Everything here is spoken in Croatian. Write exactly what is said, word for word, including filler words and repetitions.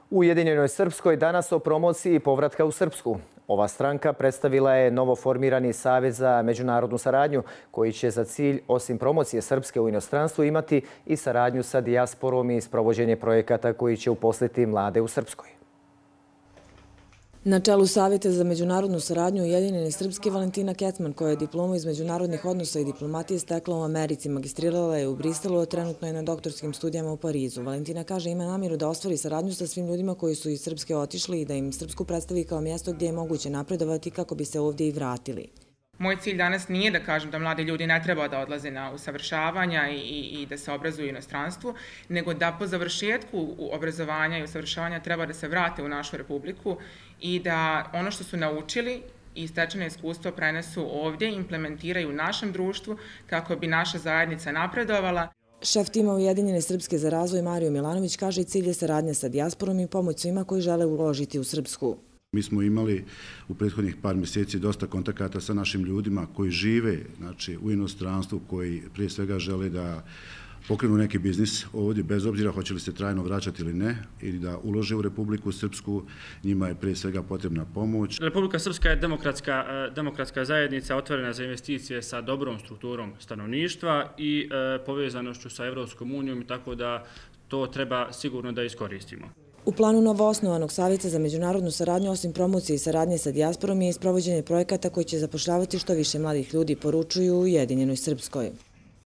U Ujedinjenoj Srpskoj danas o promociji povratka u Srpsku. Ova stranka predstavila je novoformirani Savez za međunarodnu saradnju, koji će za cilj, osim promocije Srpske u inostranstvu, imati i saradnju sa dijasporom i sprovođenje projekata koji će uposliti mlade u Srpskoj. Na čelu Savjeta za međunarodnu saradnju Ujedinjene Srpske Valentina Kecman, koja je diplomu iz međunarodnih odnosa i diplomatije stekla u Americi, magistrirala je u Briselu, a trenutno je na doktorskim studijama u Parizu. Valentina kaže ima namjeru da ostvari saradnju sa svim ljudima koji su iz Srpske otišli i da im Srpsku predstavi kao mjesto gdje je moguće napredovati kako bi se ovdje i vratili. Moj cilj danas nije da kažem da mladi ljudi ne treba da odlaze na usavršavanja i, i, i da se obrazuju u inostranstvu, nego da po završetku obrazovanja i usavršavanja treba da se vrate u našu republiku i da ono što su naučili i stečeno iskustvo prenesu ovdje, implementiraju u našem društvu kako bi naša zajednica napredovala. Šef tima Ujedinjene Srpske za razvoj Mario Milanović kaže i cilj je saradnja sa dijasporom i pomoć svima koji žele uložiti u Srpsku. Mi smo imali u prethodnih par mjeseci dosta kontakata sa našim ljudima koji žive, znači, u inostranstvu, koji prije svega žele da pokrenu neki biznis ovdje, bez obzira hoće li se trajno vraćati ili ne, ili da ulože u Republiku Srpsku. Njima je prije svega potrebna pomoć. Republika Srpska je demokratska, demokratska zajednica otvorena za investicije sa dobrom strukturom stanovništva i e, povezanošću sa Evropskom unijom, tako da to treba sigurno da iskoristimo. U planu novoosnovanog Savjeta za međunarodnu saradnju, osim promocije i saradnje sa dijasporom, je isprovođenje projekata koji će zapošljavati što više mladih ljudi, poručuju u Ujedinjenoj Srpskoj.